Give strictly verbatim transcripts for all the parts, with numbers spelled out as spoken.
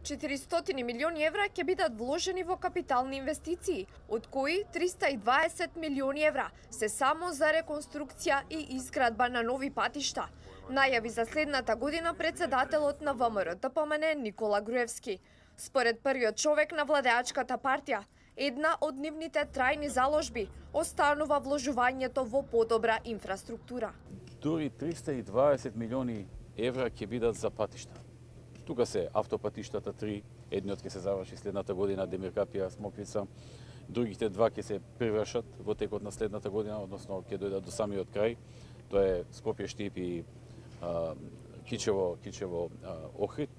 четиристотини милиони евра ќе бидат вложени во капитални инвестиции, од кои триста и дваесет милиони евра се само за реконструкција и изградба на нови патишта, најави за следната година председателот на Вэ Ем Р Д П М Н Никола Груевски. Според првиот човек на владеачката партија, една од нивните трајни заложби останува вложувањето во подобра инфраструктура. Дури триста и дваесет милиони евра ќе бидат за патишта. Тука се автопатиштата три, едниот ќе се заврши следната година, Демиркапија, Смоквица, другите два ќе се привршат во текот на следната година, односно ќе дојдат до самиот крај. Тоа е Скопје Штип и а, Кичево, Кичево а, Охрид.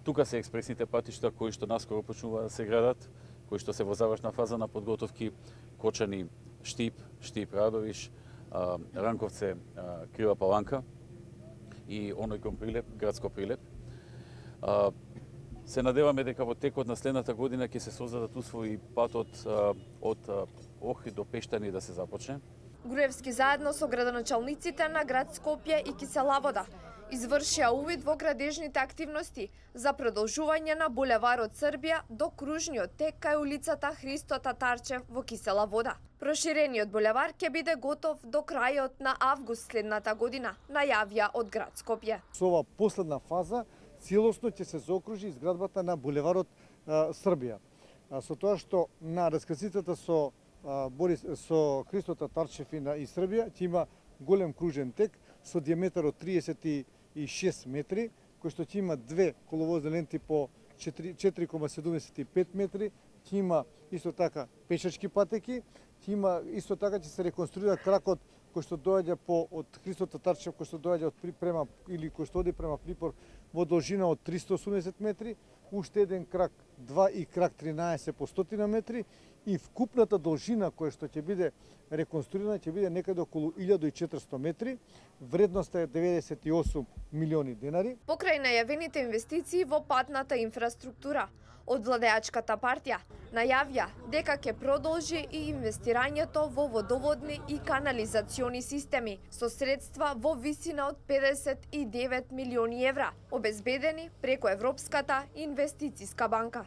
Тука се експресните патишта кои што наскоро почнува да се градат, кои што се во завршна фаза на подготовки, Кочани Штип, Штип Радовиш, а, Ранковце а, Крива Паланка и оној кон Прилеп, градско Прилеп. А, се надеваме дека во текот на следната година ќе се создадат услови патот а, од а, Охрид до Пештани да се започне. Груевски заедно со градоначалниците на град Скопје и Кисела Вода извршија увид во градежните активности за продолжување на булеварот Србија до кружниот тек кај улицата Христо Татарчев во Кисела Вода. Проширениот булевар ќе биде готов до крајот на август следната година, најавија од град Скопје. Со ова последна фаза целосно ќе се заокружи изградбата на булеварот а, Србија. А, со тоа што на раскрсицата со а, Борис со Христо Татарчев и на и Србија ќе има голем кружен тек со диаметар од триесет и шест метри, кој што ќе има две коловозни ленти по четири кома седумдесет и пет метри, ќе има исто така пешачки патеки, ќе има исто така ќе се реконструира кракот кој што доаѓа по од Христо Татарчев, кој што доаѓа од према или кој што оди према Припор во должина од триста и осумдесет метри, уште еден крак два и крак тринаесет по сто метри и вкупната должина која што ќе биде реконструирана ќе биде некаде околу илјада и четиристотини метри, вредноста е деветдесет и осум милиони денари. Покрај најавените инвестиции во патната инфраструктура, од владеачката партија најавија дека ќе продолжи и инвестирањето во водоводни и канализациони системи со средства во висина од педесет и девет милиони евра, обезбедени преку Европската инвестициска банка.